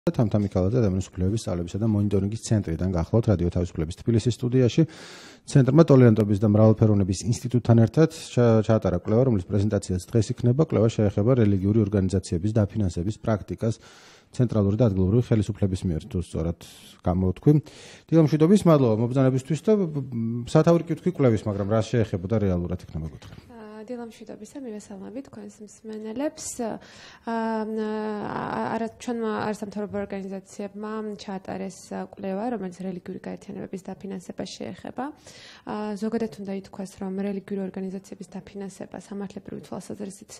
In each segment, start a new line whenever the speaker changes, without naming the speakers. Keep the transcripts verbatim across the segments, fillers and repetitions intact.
თამთამი ქალაძე ადამიანის უფლებების სწავლებისა და მონიტორინგის ცენტრიდან გახლავთ რადიო თავისუფლების თბილისის სტუდიაში. ცენტრმა ტოლერანტობის და მრავალფეროვნების ინსტიტუტთან ერთად ჩაატარა კვლევა, რომლის პრეზენტაციაც დღეს იქნება. კვლევა შეეხება რელიგიური ორგანიზაციების დაფინანსების პრაქტიკას ცენტრალური და ადგილობრივი ხელისუფლების მიერ, თუ სწორად გამოვთქვი. დილამშვიდობის, მადლობა მობრძანებისთვის და სათავე კითხვი კვლევის, მაგრამ რა შეეხებოდა რეალურად იქნება გითხრა.
დილამშვიდობისა, მივესალმებით თქვენს მსმენელებს. არა ჩვენმა არასამთავრობო ორგანიზაციებმა ჩაატარეს კვლევა, რომელიც რელიგიური გაერთიანებების დაფინანსებას შეეხება. ზოგადად უნდა ითქვას, რომ რელიგიური ორგანიზაციების დაფინანსება სამართლებრივი თვალსაზრისით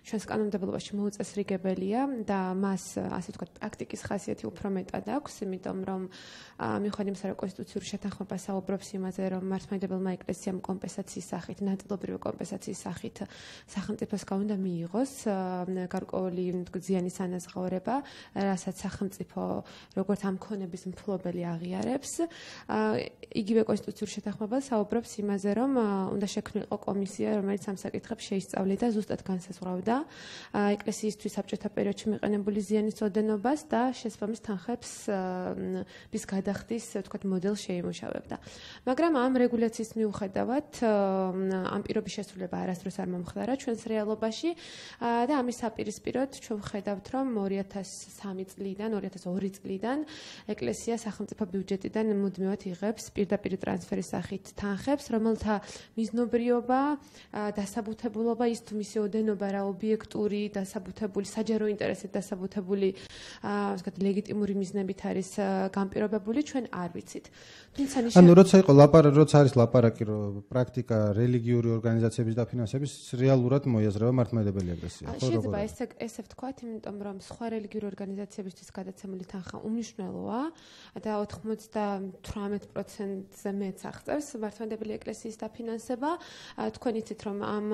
ჩვენს კანონმდებლობაში მოუწესრიგებელია და მას, ასე ვთქვათ, პრაქტიკის ხასიათი უფრო მეტად აქვს, იმიტომ რომ მიუხედავად იმისა, რომ კონსტიტუციური შეთანხმება საუბრობს იმაზე, რომ მართლმადიდებელმა ეკლესიამ კომპენსაციის სახით, ნაწილობრივი კომპენსაციის სახით სახელმწიფოს გაუნდა მიიღოს გარკვეული ზიანის ანაზღაურება, რასაც სახელმწიფო როგორც ამ ქონების მფლობელი აღიარებს. იგივე კონსტიტუციური შეთანხმება საუბრობს იმაზე, რომ უნდა შექმნილიყო კომისია, რომელიც ამ საკითხებს შეისწავლიდა, ზუსტად განსაზღვრავდა ეკლესიისთვის საბჭოთა პერიოდში მიყენებული ზიანის ოდენობას და შესაბამის თანხებს bis გადახდის, ვთქვათ, მოდელს შეიმუშავებდა. მაგრამ ამ რეგულაციის მიუხედავად ამ პირობის შესრულება არასდროს არ მომხდარა ჩვენს რეალობაში და ამის საპირისპიროდ ჩვენ ვხედავთ, რომ ორი ათას სამი წლიდან, ორი ათას ორი წლიდან ეკლესია სახელმწიფო ბიუჯეტიდან მუდმივად იღებს პირდაპირ ტრანსფერის სახით თანხებს, რომელთა მიზნობრიობა, დასაბუთებულობა, ის თუ მისი ოდენობა რა ობიექტური, დასაბუთებული, საჯარო ინტერესით დასაბუთებული, ასე ვთქვათ, ლეგიტიმური მიზნებით არის განპირობებული, ჩვენ არ ვიცით. თუმცა ნიშნავს
ანუ როცა იყო ლაპარაკი, როცა არის ლაპარაკი, რომ პრაქტიკა რელიგიური ორგანიზაციების დაფინანსების რეალურად მოიაზრება მართლმადიდებელი ეკლესია, ხო?
შეიძლება ესე ესე ვთქვათ, იმიტომ რომ სხვა რელიგიური ორგანიზაციებისთვის გადაცემული თანხა უმნიშვნელოა და ოცდათვრამეტ პროცენტზე მეც აღწევს მართლმადიდებელი ეკლესიის დაფინანსება. თქვენ იცით, რომ ამ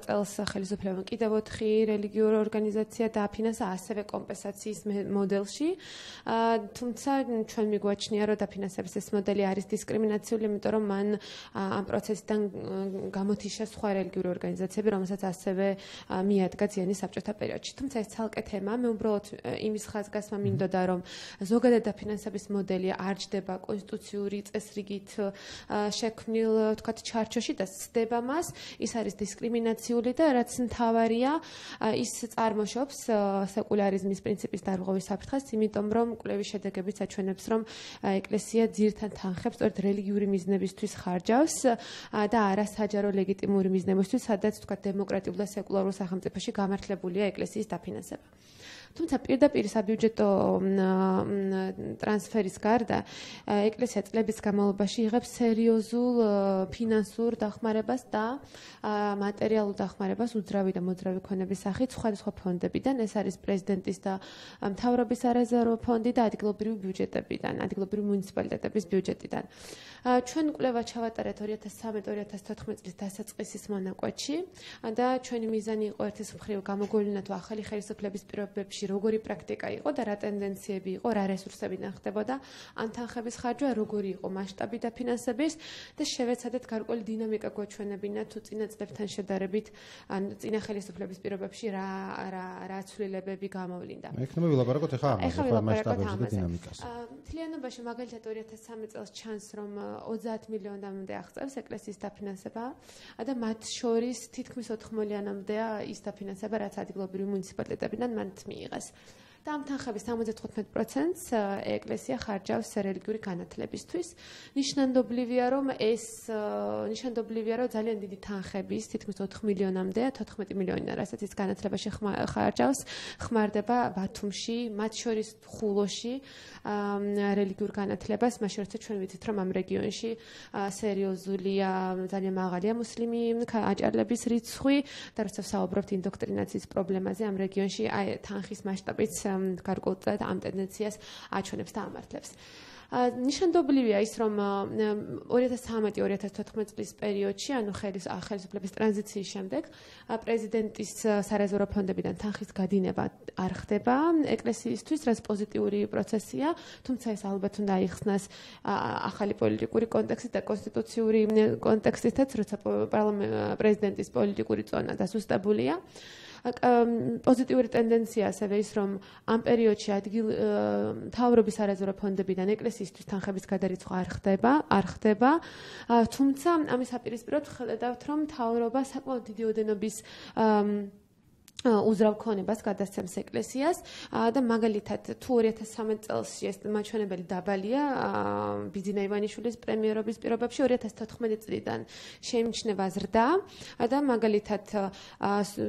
წელს ხელისუფლებამ კიდევ ოთხი რელიგიური ორგანიზაცია დააფინანსა ასევე კომპენსაციის მოდელში. თუმცა ჩვენ მიგვაჩნია, რომ დაფინანსების ეს მოდელი არის დისკრიმინაციული, იმიტომ რომ მან ამ პროცესიდან გამოთიშა სხვა რელიგიური ორგანიზაციები, რომელსაც ასევე მიადგა ზიანი საბჭოთა პერიოდში. თუმცა ეს ცალკე თემა, მე უბრალოდ იმის ხაზგასმა მინდოდა, რომ ზოგადად დაფინანსების მოდელი არ ჯდება კონსტიტუციური წესრიგით შექმნილ, ვთქვათ, ჩარჩოში და სცდება მას, ის არის დისკრიმინაციული და რაც მთავარია, ის წარმოშობს სეკულარიზმის პრინციპის დარღვევის საფრთხეს, იმიტომ რომ კვლევის შედეგებიც აჩვენებს, რომ ეკლესია ძირთან თანხებს სწორედ რელიგიური მიზნებისთვის ხარჯავს და არა საჯარო ლეგიტიმური მიზნებისთვის, სადაც თქვა დემოკრატიულ და სეკულარულ სახელმწიფოში გამართლებულია ეკლესიის დაფინანსება. თუმცა პირდაპირ საბიუჯეტო ტრანსფერის გარდა ეკლესია წლების განმავლობაში იღებს სერიოზულ ფინანსურ დახმარებას და მატერიალურ დახმარებას უძრავი და მოძრავი ქონების სახით სხვადასხვა ფონდებიდან. ეს არის პრეზიდენტის და მთავრობის არეზერვო ფონდი და ადგილობრივი ბიუჯეტებიდან, ადგილობრივი მუნიციპალიტეტების ბიუჯეტიდან. ჩვენ კვლევა ჩავატარეთ ორი ათას ცხრამეტ ორი ათას თოთხმეტ წლის დასაწყისის მონაკვეთში და ჩვენი მიზანი იყო ერთის მხრივ გამოგვევლინა თუ ახალი ხელისუფლების პირობებში როგორი პრაქტიკა იყო და რა ტენდენციები იყო, რა რესურსებიდან ხდებოდა ამ თანხების ხარჯვა, როგორი იყო მასშტაბი დაფინანსების და შევეცადეთ გარკვეული დინამიკა გვაჩვენებინა თუ წინა წლებთან შედარებით, ან წინა ხელისუფლების პირობებში რა რა რა ცვლილებები გამოვლინდა.
ექნება ვილაპარაკოთ ახლა ამაზე, მასშტაბებზე და დინამიკაზე.
მთლიანობაში მაგალითად ორი ათას სამი წელს ჩანს, რომ ოცდაათ მილიონამდე აღწევს ეკლესიის დაფინანსება და მათ შორის თითქმის ოთხ მილიონამდეა ის დაფინანსება, რაც ადგილობრივი მუნიციპალიტეტებიდან მათ მიიღეს. და ამ თანხების სამოცდათხუთმეტ პროცენტს ეკლესია ხარჯავს რელიგიური განათლებისთვის. ნიშნანდობლივია, რომ ეს ნიშნანდობლივია, რომ ძალიან დიდი თანხების, თითქმის ოთხ მილიონამდე, თოთხმეტი მილიონი, რასაც ის განათლებაში ხარჯავს, ხმარდება ბათუმში, მათ შორის ხულოში რელიგიურ განათლებას, მაშინ როცა ჩვენ ვიცით, რომ ამ რეგიონში სერიოზულია, ძალიან მაღალია მუსლიმი აჭარლების რიცხვი და როცა ვსაუბრობთ ინდოქტრინაციის პრობლემაზე ამ რეგიონში, აი თანხის მასშტაბიც გარკვეულად ამ ტენდენციას აჩვენებს და ამართლებს. ნიშანდობლივია ის, რომ ორი ათას ცხრამეტ ორი ათას თოთხმეტ წლის პერიოდში, ანუ ხელისუფლების ტრანზიციის შემდეგ, პრეზიდენტის სარეზერვო ფონდებიდან თანხის გადინება არ ხდება ეკლესიისთვის, რაც პოზიტიური პროცესია, თუმცა ეს ალბათ უნდა აიხსნას ახალი პოლიტიკური კონტექსტით და კონსტიტუციური კონტექსტითაც, როცა პრეზიდენტის პოლიტიკური წონა დასუსტებულია. პოზიტიური ტენდენცია ასევე ის, რომ ამ პერიოდში ადგილ მთავრობის არაზრუ ფონდებიდან ეკლესიისთვის თანხების გადარიცხვა არ ხდება, არ ხდება. თუმცა ამის აპირისპიროდ ხედავთ, რომ მთავრობა საკმაოდ დიდი ოდენობის უზრავ ქონებას გადასცემს ეკლესიას და მაგალითად თუ ორი ათას სამი წელს ეს მაჩვენებელი დაბალია ბიძინა ივანიშვილის პრემიერობის პირობებში ორი ათას თოთხმეტი წლიდან შეიმჩნევა ზრდა და მაგალითად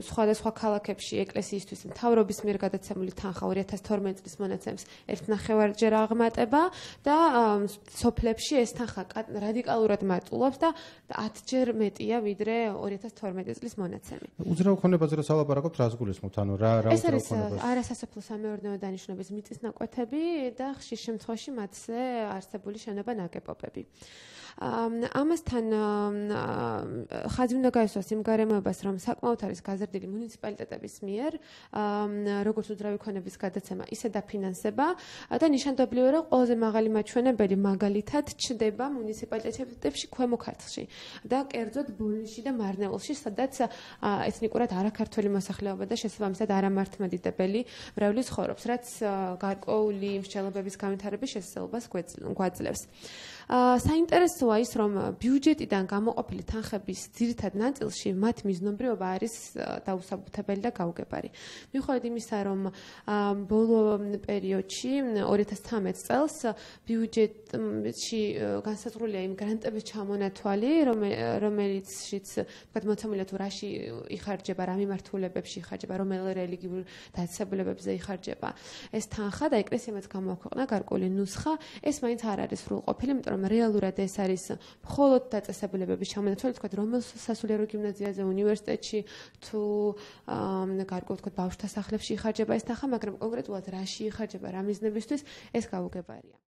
სხვადასხვა ქალაქებში ეკლესიისთვის მთავრობის მიერ გადაცემული თანხა ორი ათას თორმეტი წლის მონაცემს ერთ ნახევარჯერ აღმატება და სოფლებში ეს თანხა რადიკალურად მატულობს და ათჯერ მეტია ვიდრე ორი ათას თორმეტი წლის მონაცემი.
უზრავ ქონებაზე რა ლაპარაკობთ? რას გულისხმობთ? ანუ რა რა
ეს არის არასასოფლო სამეურნეო დანიშნულების მიწის ნაკვეთები და ხშირ შემთხვევაში მათზე არსებული შენობა ნაგებობები. ამასთან ხაზი უნდა გაისვას იმ გარემოებას, რომ საკმაოდ არის გაზრდილი მუნიციპალიტეტების მიერ როგორც უძრავი ქონების გადაცემა, ისე დაფინანსება და ნიშანდობლივია, რომ ყველაზე მაღალი მაჩვენებელი მაგალითად ჩდება მუნიციპალიტეტებში ქვემო ქართლში და კერძოდ ბოლნისში და მარნეულში, სადაც ეთნიკურად არაქართველი მოსახლეობა და შესაბამისად არამართლმადიდებელი მრევლი ცხოვრობს, რაც გარკვეული მსჯელობების განვითარების შესაძლებლობას გვაძლევს. საინტერესოა ის, რომ ბიუჯეტიდან გამოყოფილი თანხების ძირითად ნაწილში მათ მიზნობრიობა არის დაუსაბუთებელი და გაუგებარი. მიუხედავად იმისა, რომ ბოლო პერიოდში ორი ათას ცხრამეტ წელს ბიუჯეტში განსაზღვრულია იმ გრანტების ჩამონათვალი, რომელიცშიც თქვათ მოცემულია თუ რაში იხარჯება, რა მიმართულებებში იხარჯება, რომელ რელიგიურ დაწესებულებებზე იხარჯება ეს თანხა და ეკლესიამაც გამოაქვეყნა გარკვეული ნუსხა, ეს მაინც არ არის სრულყოფილი, იმიტომ რომ რეალურად ეს არის მხოლოდ დაწესებულებების ჩამონათვალი, თქვათ რომელ სასულიერო გიმნაზიაზე, უნივერსიტეტში თუ გარკვეულ თქვათ ბავშვთა სახლებში იხარჯება ეს თანხა, მაგრამ კონკრეტულად რაში იხარჯება, რა მიზნებისთვის ეს გაუგებარია.